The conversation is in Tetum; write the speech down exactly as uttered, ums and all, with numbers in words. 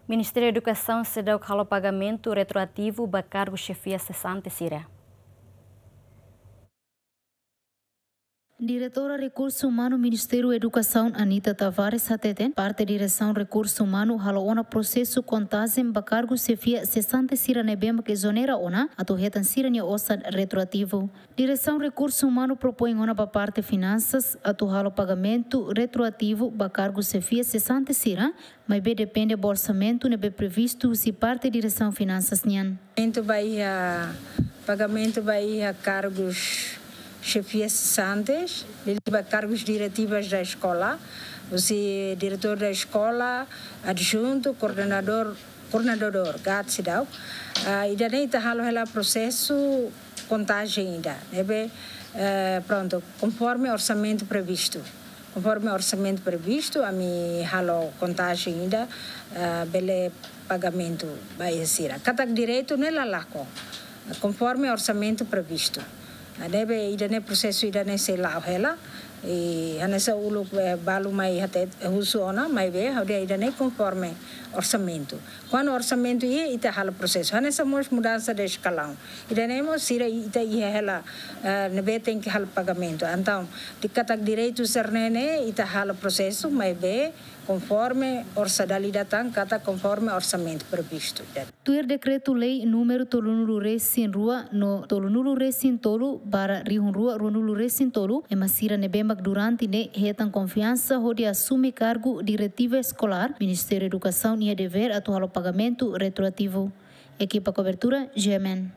Ministériu Edukasaun seidauk halo pagamentu retroativu ba kargu xefia sesante sira. Diretora Rekursu Umanu Ministériu Edukasaun, Anita Tavares, hateten parte Diresaun Rekursu Umanu halo ona prosesu kontajen ba kargu xefia sesante sira ne'ebé mak ezonera ona atu hetan sira-nia osan retroativu. Diresaun Rekursu Umanu propoin ona ba parte Finansas atu halo pagamentu retroativu ba kargu xefia sesante sira, maibé depende ba orsamentu ne'ebé previstu husi parte Diresaun Finansas nian. Pagamentu ba iha, pagamentu ba iha kargus xefia sesantes, liuliu ba kargus diretivas da eskola, husi diretór da eskola, adjuntu, koordenadór, koordenadór, GAD seidauk. Ah, ida-ne'e ita halo hela prosesu kontajen ida, ne'ebé, eh, prontu, konforme orsamentu previstu. Konforme orsamentu previstu, ami halo kontajen ida, eh, bele pagamentu ba iha sira. Katak direitu ne'e la lakon, konforme orsamentu previstu. Ah, ne'ebé ida-ne'e prosesu ida-ne'e sei la'o hela, i hanesan uluk, eh, balu mai hatete husu ona, maibé ha'u dehan ida-ne'e konforme orsamentu. Kuandu orsamentu iha, ita halo prosesu. Hanesan mós mudansa de eskalaun. Ida-ne'e mós sira ita iha hela, eh, ne'ebé tenke halo pagamentu. Entaun, di katak direitu sira-ne'e ne'e, ita halo prosesu, maibé konforme orsa dali datang, katak konforme orsamentu previstu. Tuir dekretu-lei númeru tolunulu-resin-rua no tolunulu-resin-tolu barra rihun rua ruanulu-resin-tolu, ema sira ne'ebé mak durante ne'e hetan konfiansa hodi asume kargu diretiva eskolár, Ministériu Edukasaun iha devér atu halo pagamentu retroativu. Ekipa kobertura, G M N.